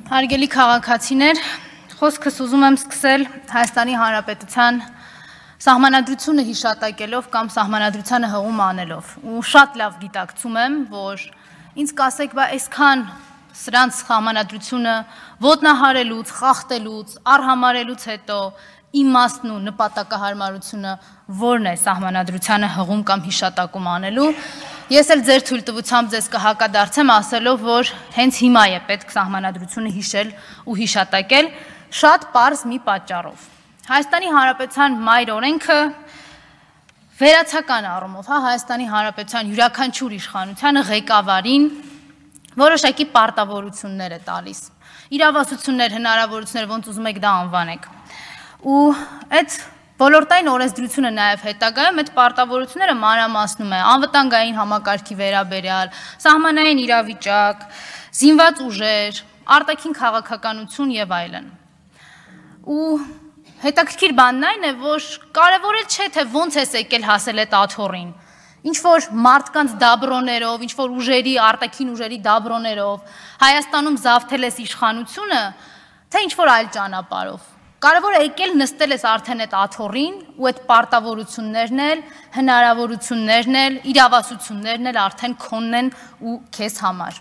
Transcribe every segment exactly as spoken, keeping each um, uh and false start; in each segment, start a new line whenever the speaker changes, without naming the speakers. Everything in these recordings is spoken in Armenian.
Հարգելի քաղաքացիներ, խոսքս ուզում եմ սկսել Հայաստանի Հանրապետության սահմանադրությունը հիշատակելով կամ սահմանադրությանը հղում անելով ու շատ լավ գիտակցում եմ, որ ինձ կասեք, բա այսքան սրանց սահմանադրությունը ոտնահարելուց, խախտելուց, արհամարելուց հետո իմաստն ու նպատակահարմարությունը որն է սահմանադրությանը հղում կամ հիշատակում անելու, ես էլ ձեր թույլտվությամբ ձեզ կհակադարձեմ ասելով, որ հենց հիմա է պետք սահմանադրությունը հիշել ու հիշատակել շատ պարզ մի պատճառով։ Հայաստանի Հանրապետության մայր օրենքը վերացական առումով, հա, Հայաստանի Հանրապետության յուրաքանչյուր իշխանությանը ղեկավարին որոշակի պարտավորություններ է տալիս, իրավասություններ, հնարավորություններ, ոնց ուզում եք դա անվանեք։ Ու այդ ոլորտային օրենսդրությունը նաև հետագայում այդ պարտավորությունները մանրամասնում է անվտանգային համակարգի վերաբերյալ, սահմանային իրավիճակ, զինված ուժեր, արտաքին քաղաքականություն եւ այլն։ Ու հետաքրքիր բանն այն է, որ կարևոր էլ չէ, թե ոնց է եկել հասել այդ աթոռին։ Ինչ որ մարդկանց դաբրոներով, ինչ որ ուժերի, արտաքին ուժերի դաբրոներով Հայաստանում զավթել ես իշխանությունը, թե ինչ որ այլ ճանապարհով։ Կարևոր է եկել նստել ես արդեն այդ աթոռին ու այդ պարտավորություններն էլ, հնարավորություններն էլ, իրավասություններն էլ արդեն քոնն են ու քեզ համար։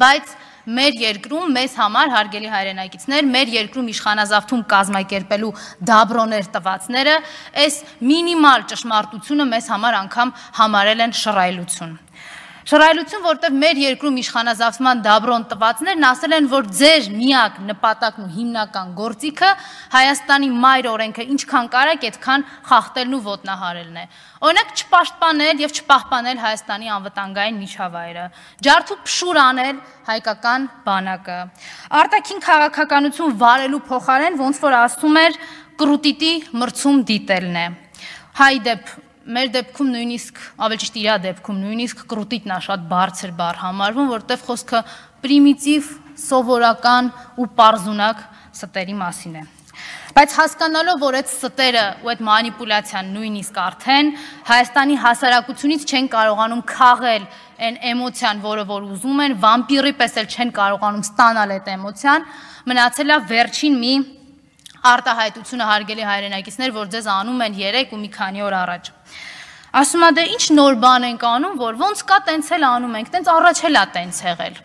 Բայց մեր երկրում մեզ համար, հարգելի հայրենակիցներ, մեր երկրում իշխանազավթում կազմակերպելու դաբրոներ տվածները այս մինիմալ ճշմարտությունը մեզ համար անգամ համարել են շռայլություն։ Շռայլություն, որտեղ մեր երկրում իշխանազավթման դաբրոն տվածներն ասել են, որ ձեր միակ նպատակն ու հիմնական գործիքը Հայաստանի մայր օրենքը ինչքան կարեք, այդքան խախտելն ու ոտնահարելն է։ Օրինակ չպաշտպանել եւ չպահպանել Հայաստանի անվտանգային միջավայրը, ջարդ ու փշուր անել հայկական բանակը, արտաքին քաղաքականություն վարելու փոխարեն ոնց որ ասում էր կրուտիտի մրցում դիտելն է։ Հայ դեպ Մեր դեպքում նույնիսկ, ավելի ճիշտ իրա դեպքում նույնիսկ կրուտիտն է շատ բարձր բառ համարվում, որտեղ խոսքը պրիմիտիվ, սովորական ու պարզունակ ստերի մասին է։ Բայց հասկանալով, որ այդ ստերը ու այդ մանիպուլյացիան նույնիսկ արդեն Հայաստանի հասարակությունից չեն կարողանում քաղել այն էմոցիան, որը որ ուզում են, վամպիրի պես էլ չեն կարողանում ստանալ այդ էմոցիան, մնացել է վերջին մի արտահայտությունը, հարգելի հայրենակիցներ, որ ձեզ անում են երեք ու մի քանի օր առաջ։ Ասում է դե ինչ նոր բան ենք անում, որ ոնց կա տենց էլ անում ենք, տենց առաջ էլ է տենց եղել։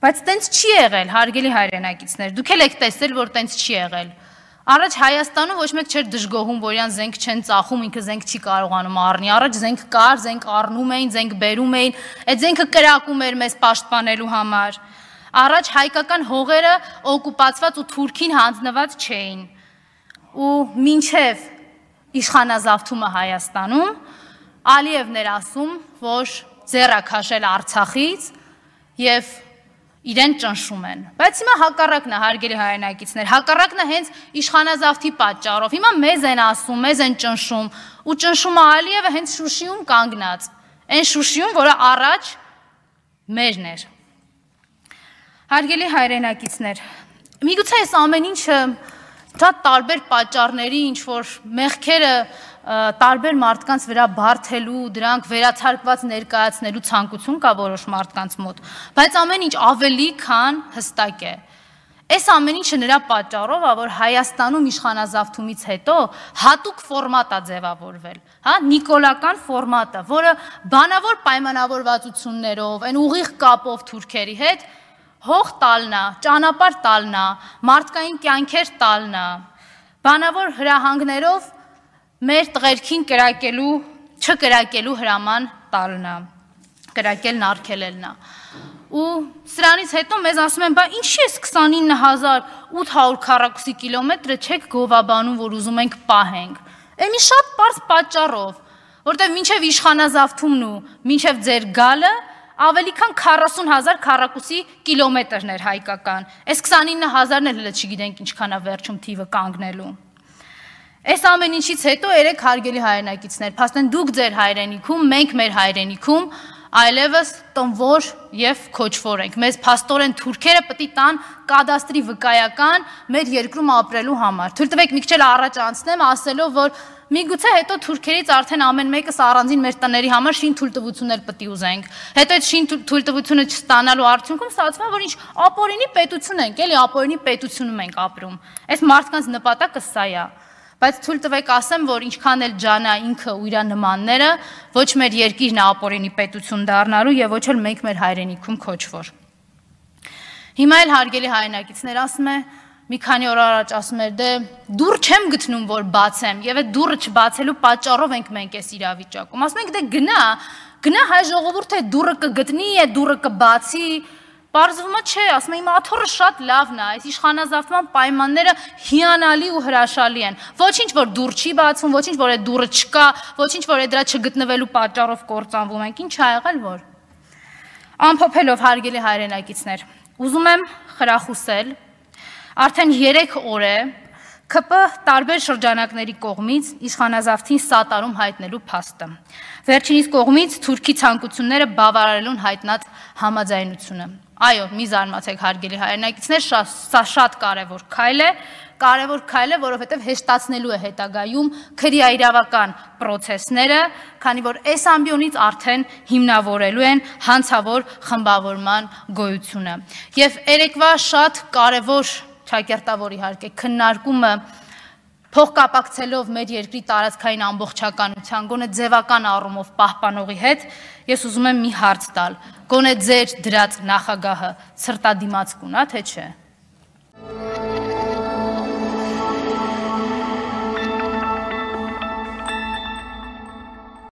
Բայց տենց չի եղել, հարգելի հայրենակիցներ, դուք էլ եք տեսել, որ տենց չի եղել։ Առաջ Հայաստանում ոչ մեկ չէր դժգոհում, որ իրան զենք չեն ծախում, ինքը զենք չի կարողանում առնի։ Առաջ զենք կար, զենք առնում էին, զենք բերում էին, այդ զենքը կրակում էր մեզ պաշտպանելու համար։ Առաջ հայկական հողերը օկուպացված ու թուրքին հանձնված չէին։ Ու մինչև իշխանազավթումը Հայաստանում Ալիևն էր ասում, որ ձեռ է քաշել Արցախից եւ իրեն ճնշում են։ Բայց հիմա հակառակն է, հարգելի հայրենակիցներ, հակառակն է հենց իշխանազավթի պատճառով։ Հիմա մեզ են ասում, մեզ են ճնշում ու ճնշումը Ալիևը հենց Շուշիում կանգնած։ Այն Շուշիում, որը առաջ մերն էր։ Հարգելի հայրենակիցներ, միգուցե այս ամեն ինչը շատ տարբեր պատճառների, ինչ որ մեղքերը տարբեր մարդկանց վրա բարթելու, դրանք վերացարկված ներկայացնելու ցանկություն կա որոշ մարդկանց մոտ, բայց ամեն ինչ ավելի քան հստակ է։ Այս ամեն ինչը նրա պատճառով է, որ Հայաստանում իշխանազավթումից հետո հատուկ ֆորմատ է ձևավորվել, հա, նիկոլական ֆորմատը, որը բանավոր պայմանավորվածություններով, այն ուղիղ կապով թուրքերի հետ հող տալնա, ճանապարհ տալնա, մարդկային կյանքեր տալնա, բանավոր հրահանգներով մեր տղերքին կրակելու, չկրակելու հրաման տալնա, կրակելն արգելելնա։ Ու սրանից հետո մեզ ասում են, բա ինչի՞ էս քսանինը հազար ութ հարյուր քառակուսի կիլոմետրը չեք գովաբանում, որ ուզում ենք պահենք։ Էն մի շատ պարզ պատճառով, որտեղ մինչև իշխանազավթումն ու մինչև ձեր գալը ավելի քան քառասուն հազար քառակուսի կիլոմետրն էր հայկական։ Այս քսանինը հազարն էլ հələ չգիտենք ինչքան է վերջում թիվը կանգնելու։ Այս ամեն ինչից հետո երեք հարգելի հայրենակիցներ, փաստեն դուք ձեր հայրենիքում, մենք մեր հայրենիքում այլևս տնվոր եւ քոչվոր ենք։ Մեզ փաստորեն թուրքերը պետք է տան կադաստրի վկայական մեր երկրում ապրելու համար։ Թույլ տվեք մի քիչ առաջ անցնեմ, ասելով, որ միգուցե հետո թուրքերից արդեն ամեն մեկս առանձին մեր տների համար շին թույլտվություններ պետք է ուզենք։ Հետո այդ շին թույլտվությունը չստանալու արդյունքում ստացվում է, որ ինչ ապօրինի պետություն ենք, էլի ապօրինի պետությունում ենք ապրում։ Այս մարդկանց նպատակը սա է։ Բայց թույլ տվեք ասեմ, որ ինչքան էլ ջանա ինքը ու իր նմանները, ոչ մեր երկիրն է ապօրինի պետություն դառնալու եւ ոչ էլ մենք մեր հայրենիքում քոչվոր։ Հիմա էլ հարգելի հայրենակիցներ, ասում է, մի քանի օր առաջ ասում էր, դե դուռ չեմ գտնում, որ բացեմ, եւ այդ դուռը չբացելու պատճառով ենք մենք այս իրավիճակում։ Ասում ենք, դե գնա, գնա հայ ժողովուրդը դուռը կգտնի, այդ դուռը կբացի։ Պարզվում է չէ, ասում եմ, իմ աթոռը շատ լավն է, այս իշխանազավթման պայմանները հիանալի ու հրաշալի են։ Ոչինչ որ դուռ չի բացվում, ոչինչ որ այդ դուռը չկա, ոչինչ որ այդ դրա չգտնվելու պատճառով կործանվում ենք, ինչ ա եղել որ։ Ամփոփելով հարգելի հայրենակիցներ, ուզում եմ խրախուսել, արդեն երեք օր է K P տարբեր շրջանակների կողմից իշխանազավթին սատարում հայտնելու փաստը։ Վերջինիս կողմից Թուրքի ցանկությունները բավարարելուն հայտնած համաձայնությունը։ Այո, մի զարմացեք հարգելի հայրենակիցներ, սա շատ կարևոր քայլ է, կարևոր քայլ է, որովհետև հեշտացնելու է հետագայում քրեաիրավական պրոցեսները, քանի որ այս ամբիոնից արդեն հիմնավորելու են հանցավոր խմբավորման գոյությունը։ Եվ երեկվա շատ կարևոր ճակերտավոր իհարկե քննարկումը փոխկապակցելով մեր երկրի տարածքային ամբողջականության, գոնե ձևական առումով պահպանողի հետ, ես ուզում եմ մի հարց տալ, գոնե ձեր դրած նախագահը ցրտադիմաց կունա, թե չէ։